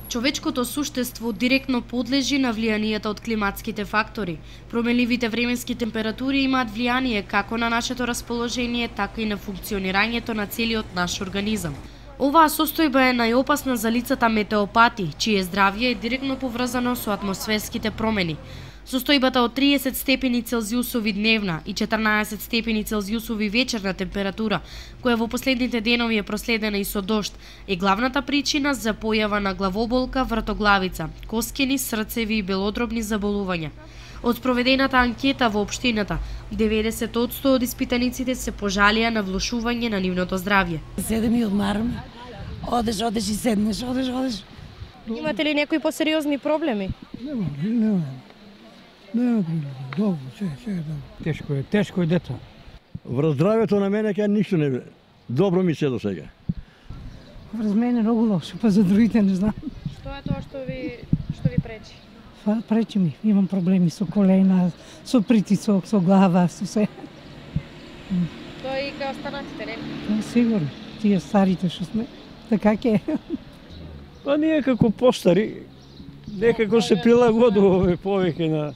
Човечкото суштество директно подлежи на влијанието од климатските фактори. Променливите временски температури имаат влијание како на нашето расположение, така и на функционирањето на целиот наш организам. Оваа состојба е најопасна за лицата метеопати, чие здравје е директно поврзано со атмосферските промени. Состојбата од 30 степени Целзиусови дневна и 14 степени Целзиусови вечерна температура, која во последните денови е проследена и со дожд, е главната причина за појава на главоболка, вртоглавица, коскени, срцеви и белодробни заболувања. Од спроведената анкета во општината, 90% од испитаниците се пожалија на влошување на нивното здравје. Седем и одмараме. Одеш и седнеш, одеш. Имате ли некои посериозни проблеми? Нема. Добро, се добро. Тешко е дето. Врз здравјето на мене ќе ништо не добро ми се до сега. Врз мене многу лошо, па за другите не знам. Што е тоа што ви пречи? Пречи ми, имам проблеми со колена, со притисок, со глава, со се. Тоа и кај останатите, не? Сигурно, тие старите што сме, така ќе е. Па ние како постари, некако се прилагодуваме повеќе на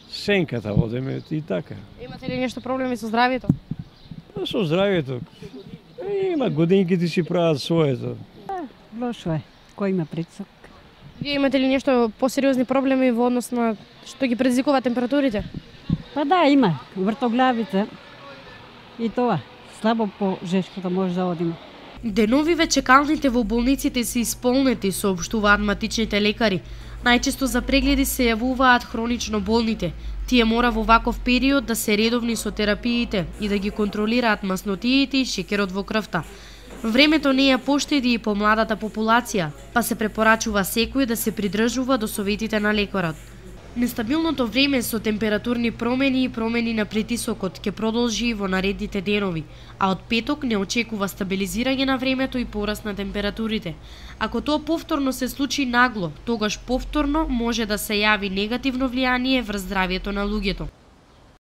сенката одеме и така. Имате ли нешто проблеми со здравјето? Па со здравјето. Има годинките си прават своето. Лошо е, кој има притисок. Вие имате ли нешто посериозни проблеми во однос на што ги предизвикува температурите? Па да, има вртоглавица и тоа. Слабо по жешката може да одиме. Деновиве чекалните во болниците се исполнети, соопштуваат матичните лекари. Најчесто за прегледи се јавуваат хронично болните. Тие мора во ваков период да се редовни со терапиите и да ги контролираат маснотиите и шекерот во крвта. Времето не ја поштеди и по младата популација, па се препорачува секој да се придржува до советите на лекарот. Нестабилното време со температурни промени и промени на притисокот ќе продолжи во наредните денови, а од петок не очекува стабилизирање на времето и пораст на температурите. Ако тоа повторно се случи нагло, тогаш повторно може да се јави негативно влијание врз здравјето на луѓето.